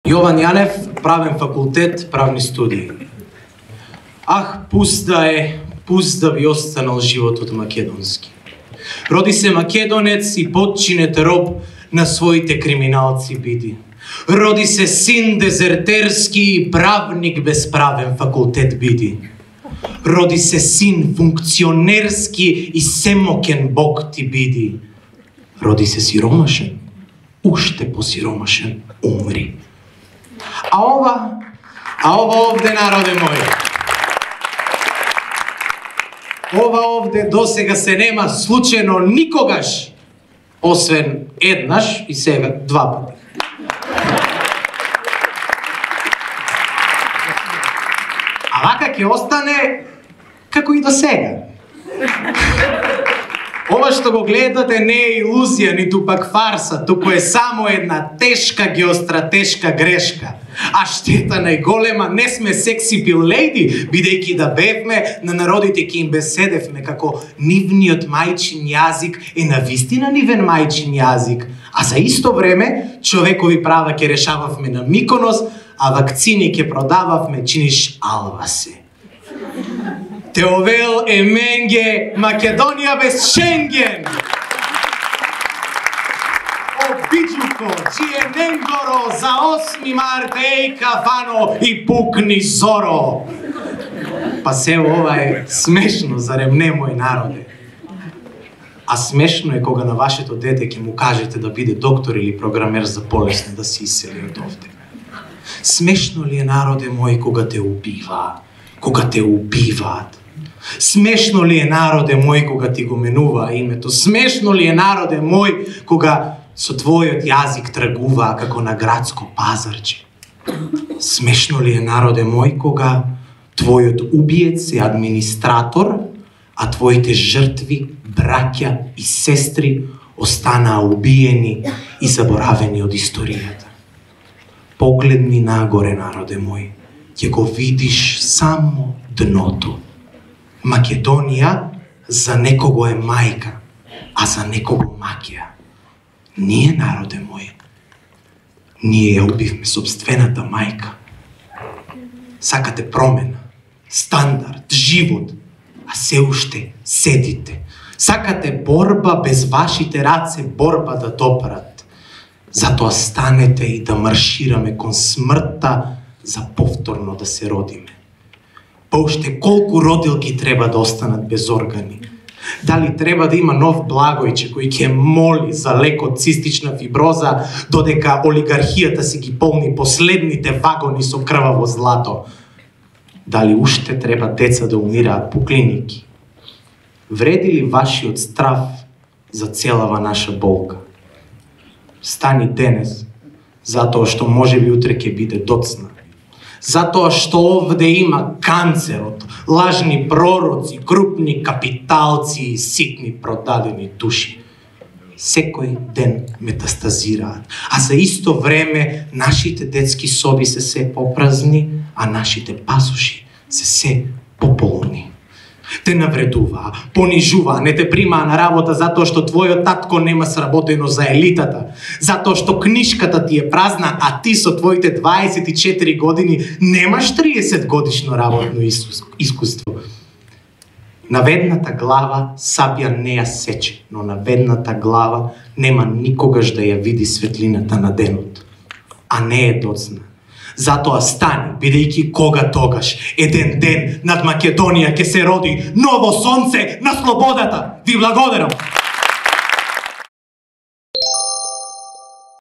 Јован Јанев, правен факултет, правни студии. Ах, пуст да би останал животот македонски. Роди се македонец и подчинет роб на своите криминалци биди. Роди се син дезертерски и правник без правен факултет биди. Роди се син функционерски и семокен бог ти биди. Роди се сиромашен, уште посиромашен умри. А ова овде, народе мој, ова овде досега се нема случајно никогаш, освен еднаш и сега два пати. А вака ќе остане како и до сега. Ова што го гледате не е илузија, ниту пак фарса, туку е само една тешка геостратешка грешка. А штета најголема, не сме секси пил лејди, бидејќи да бевме, на народите ки им беседевме како нивниот мајчин јазик е навистина нивен мајчин јазик, а за исто време човекови права ќе решававме на Миконос, а вакцини ќе продававме чиниш алвасе. Теовел е менге, Македонија без Шенген! Обиджуко, чие ненгоро, за 8 марта еј кафано и пукни зоро! Па се ова е смешно, зарем не мој народе? А смешно е кога на вашето дете ќе му кажете да биде доктор или програмер за полесно да се исели од овде. Смешно ли е, народе мој, кога те убиваат? Смешно ли е, народе мој, кога ти го менува името? Смешно ли е, народе мој, кога со твојот јазик тргуваа како на градско пазарче? Смешно ли е, народе мој, кога твојот убиец е администратор, а твоите жртви, браќа и сестри останаа убиени и заборавени од историјата? Погледни нагоре, народе мој, ќе го видиш само дното. Македонија за некого е мајка, а за некого макија. Ние, народе мој, ние ја убивме собствената мајка. Сакате промена, стандард, живот, а се уште седите. Сакате борба без вашите раце, борба да допрат. Затоа станете и да маршираме кон смртта за повторно да се родиме. Па уште колку родилки треба да останат без органи? Дали треба да има нов Благојче кој ќе моли за лек од цистична фиброза, додека олигархијата си ги полни последните вагони со крваво злато? Дали уште треба деца да умираат по клиники? Вреди ли вашиот страв за целава наша болка? Стани денес, затоа што можеби утре ќе биде доцна. Затоа што овде има канцерот, лажни пророци, крупни капиталци и ситни продадени души. Секој ден метастазираат, а за исто време нашите детски соби се попразни, а нашите пасоши се пополни. Те навредуваа, понижуваа, не те примаа на работа затоа што твојот татко нема сработено за елитата, затоа што книшката ти е празна, а ти со твоите 24 години немаш 30 годишно работно искуство. На ведната глава сабја не ја сече, но на ведната глава нема никогаш да ја види светлината на денот, а не е доцна. Затоа стани, бидејќи кога тогаш, еден ден над Македонија ќе се роди ново сонце на слободата. Ви благодарам!